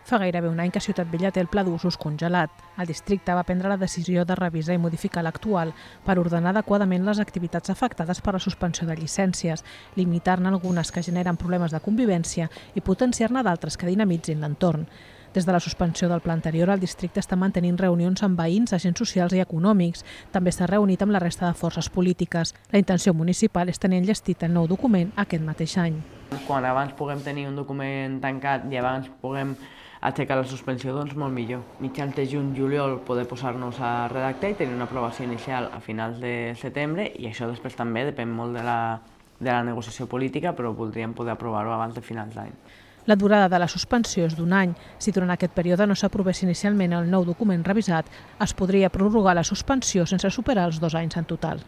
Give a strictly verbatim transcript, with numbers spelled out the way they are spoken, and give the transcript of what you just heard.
Fa gairebé un any que Ciutat Vella té el pla d'usos congelat. El districte va prendre la decisió de revisar i modificar l'actual per ordenar adequadament les activitats afectades per la suspensió de llicències, limitar-ne algunes que generen problemes de convivència i potenciar-ne d'altres que dinamitzin l'entorn. Des de la suspensió del pla anterior, el districte està mantenint reunions amb veïns, agents socials i econòmics. També s'ha reunit amb la resta de forces polítiques. La intenció municipal és tenir enllestit el nou document aquest mateix any. Quan abans puguem tenir un document tancat i abans puguem aixecar la suspensió, doncs molt millor. Mitjans de juny-juliol poder posar-nos a redactar i tenir una aprovació inicial a finals de setembre, i això després també depèn molt de la, de la negociació política, però voldríem poder aprovar-ho abans de finals d'any. La durada de la suspensió és d'un any. Si durant aquest període no s'aprovés inicialment el nou document revisat, es podria prorrogar la suspensió sense superar els dos anys en total.